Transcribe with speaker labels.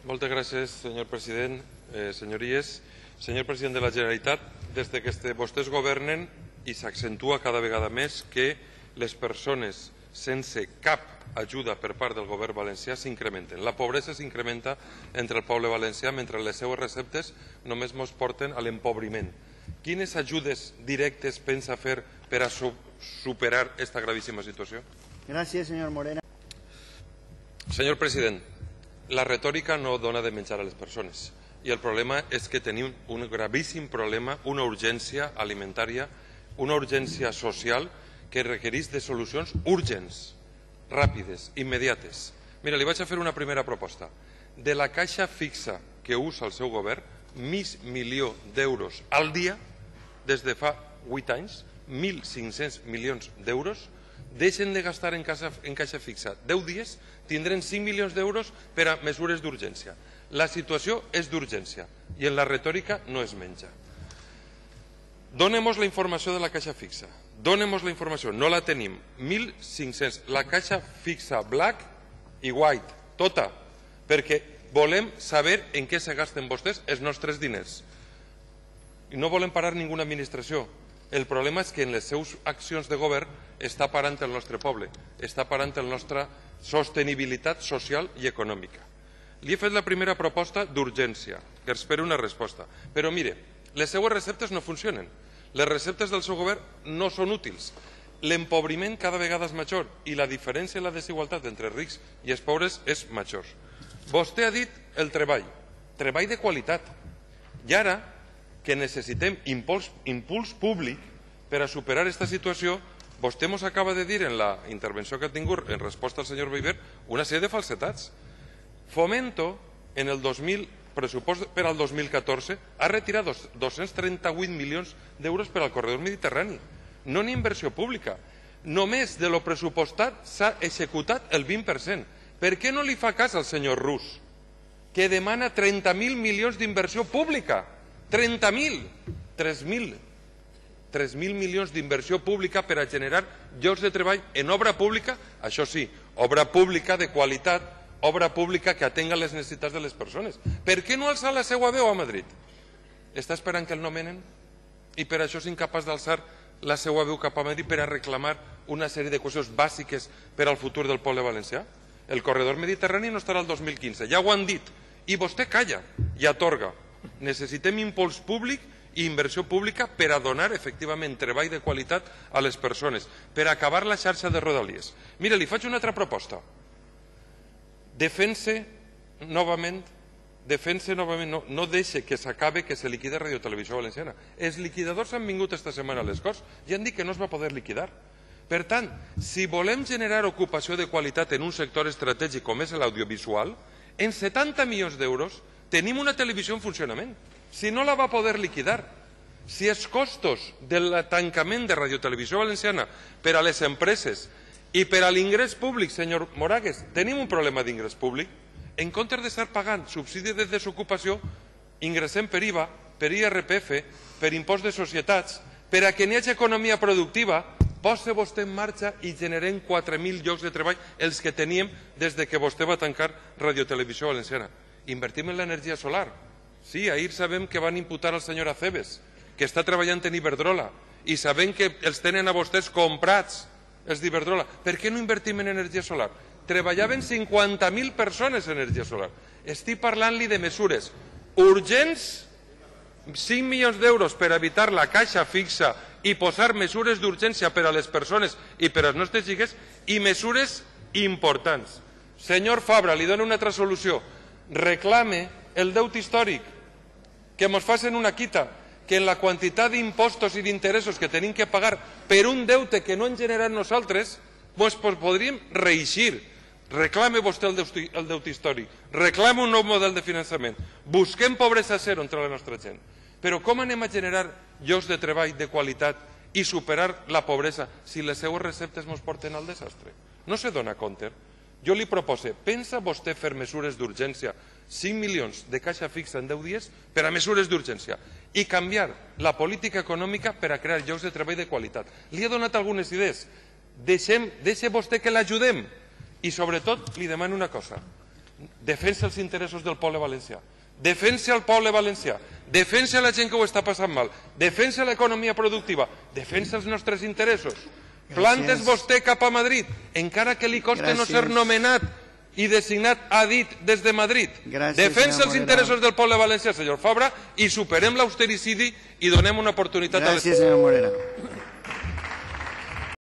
Speaker 1: Moltes gràcies, senyor president. Senyories, senyor president de la Generalitat, des que vostès governen i s'accentua cada vegada més que les persones sense cap ajuda per part del govern valencià s'incrementen. La pobresa s'incrementa entre el poble valencià mentre les seues receptes només ens porten a l'empobriment. Quines ajudes directes pensa fer per a superar aquesta gravíssima situació?
Speaker 2: Gràcies, senyor Morena.
Speaker 1: Senyor president, la retòrica no dona de menjar a les persones i el problema és que tenim un gravíssim problema, una urgència alimentària, una urgència social que requereix de solucions urgents, ràpides, immediates. Mira, li vaig a fer una primera proposta. De la caixa fixa que usa el seu govern, mig milió d'euros al dia, des de fa 8 anys, 1.500 milions d'euros, deixen de gastar en caixa fixa 10 dies, tindrem 5 milions d'euros per a mesures d'urgència. La situació és d'urgència i en la retòrica no es menja. Dónem-nos la informació de la caixa fixa. Dónem-nos la informació. No la tenim. 1.500. La caixa fixa black i white. Tota. Perquè volem saber en què se gasten vostès els nostres diners. I no volem parar ninguna administració. El problema és que en les seves accions de govern està parant el nostre poble, està parant la nostra sostenibilitat social i econòmica. Li he fet la primera proposta d'urgència, que espero una resposta. Però mire, les seues receptes no funcionen. Les receptes del seu govern no són útils. L'empobriment cada vegada és major i la diferència i la desigualtat entre rics i els pobres és major. Vostè ha dit el treball de qualitat. I ara, que necessitem impuls públic per a superar aquesta situació, vostè ens acaba de dir en la intervenció que ha tingut en resposta al senyor Beiber una sèrie de falsetats. Fomento, en el pressupost per al 2014, ha retirat 238 milions d'euros per al corredor mediterrani. No n'hi ha inversió pública. Només de lo pressupostat s'ha executat el 20%. Per què no li fa cas al senyor Rus, que demana 30.000 milions d'inversió pública? 30.000! 3.000 milions d'inversió pública per a generar llocs de treball en obra pública, això sí, obra pública de qualitat, obra pública que atenga les necessitats de les persones. Per què no alçar la seva veu a Madrid? Està esperant que el nomenen? I per això és incapaç d'alçar la seva veu cap a Madrid per a reclamar una sèrie de qüestions bàsiques per al futur del poble valencià? El corredor mediterrani no estarà el 2015, ja ho han dit, i vostè calla i atorga. Necessitem impuls públic i inversió pública per a donar efectivament treball de qualitat a les persones, per a acabar la xarxa de rodalies. Mira, li faig una altra proposta. Defense novament, no deixe que s'acabe que se liquide Radio Televisió Valenciana. Els liquidadors han vingut esta setmana a les Corts i han dit que no es va poder liquidar. Per tant, si volem generar ocupació de qualitat en un sector estratègic com és l'audiovisual, en 70 milions d'euros tenim una televisió en funcionament. Si no la va poder liquidar, si els costos del tancament de Radio Televisió Valenciana per a les empreses i per a l'ingrés públic, senyor Moragues, tenim un problema d'ingrés públic. En comptes d'estar pagant subsidi de desocupació, ingressem per IVA, per IRPF, per impost de societats, per a que n'hi hagi economia productiva, posa vostè en marxa i generem 4.000 llocs de treball, els que teníem des que vostè va tancar Radio Televisió Valenciana. Invertim en l'energia solar. Sí, ahir sabem que van imputar al senyor Aceves, que està treballant en Iberdrola, i sabem que els tenen a vostès comprats, els d'Iberdrola. Per què no invertim en energia solar? Treballaven 50.000 persones en energia solar. Estic parlant-li de mesures urgents, 5 milions d'euros per evitar la caixa fixa i posar mesures d'urgència per a les persones i per als nostres xiquets i mesures importants. Senyor Fabra, li dono una altra solució. Reclame el deute històric, que ens facin una quita, que en la quantitat d'impostos i d'interessos que tenim que pagar per un deute que no hem generat nosaltres, doncs podríem reeixir. Reclame vostè el deute històric, reclame un nou model de finançament, busquem pobresa zero entre la nostra gent. Però com anem a generar llocs de treball de qualitat i superar la pobresa si les seues receptes ens porten al desastre? No se dona compte. Jo li propose, pensa vostè fer mesures d'urgència, 5 milions de caixa fixa en 10 dies per a mesures d'urgència i canviar la política econòmica per a crear llocs de treball de qualitat. Li he donat algunes idees. Deixe vostè que l'ajudem. I sobretot li demano una cosa. defensa els interessos del poble valencià, defensa el poble valencià, defensa la gent que ho està passant mal, defensa l'economia productiva, defensa els nostres interessos. Plantes vostè cap a Madrid, encara que li costi no ser nomenat i designat a dit des de Madrid. Defensa els interessos del poble valencià, senyor Fabra, i superem l'austericidi i donem una oportunitat a les...
Speaker 2: Gràcies, senyor Morera.